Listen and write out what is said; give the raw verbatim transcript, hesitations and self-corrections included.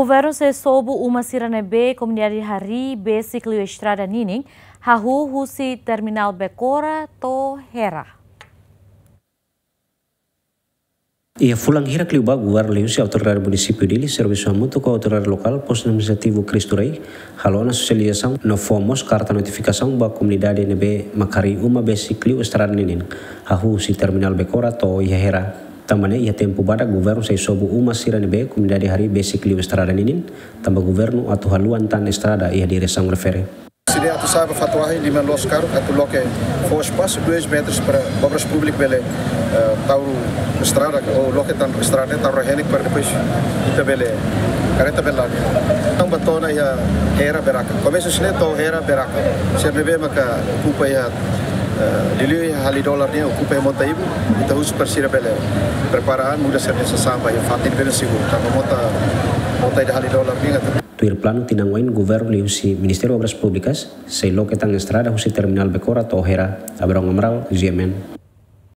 Governu sei sobu uma sira ne'ebé komunidade harii besik liu estrada ninin, hahú husi terminál Becora to'o Hera. Iha fulan hirak liubá, governu liuhusi Autoridade Munisípiu Dili, servisu hamutuk ho autoridade lokál, Postu Administrativu Cristo Rei, halo ona sosializasaun no fó mós karta notifikasaun ba komunidade ne'ebé mak harii uma besik liu estrada ninin, hahú husi terminál Becora to'o iha Hera. Tanba ne'e iha tempu badak governu sei sobu uma sira ne'ebé komunidade harii besik liu estrada ninin, tanba governu atu haluan tan estrada iha diresaun refere. Sira atu sa'e ba fatin oin liman loos karuk atu loke fó espasu dois metros para Obras Públikas bele, eh, tau estrada, ou loke tan estrada ne'e tau rehenek para depois ita bele, kareta bele la'o. Entaun ba to'o ona iha Hera Beraka. Komesa husi ne'e to'o Hera Beraka. Sira ne'ebé maka okupa iha, eh, liuliu iha Hali Dolar nian, okupa iha mota ibun, ita husu para sira bele prepara an, muda sira-nia sasán ba iha fatin bele seguru. Tanba mota, mota ida Hali Dolar nian atu. Tuir planu tinan oin, governu liuhusi Ministériu Obras Públikas sei loke tan estrada husi terminál Becora to'o Hera. Abrão Amaral, G M N.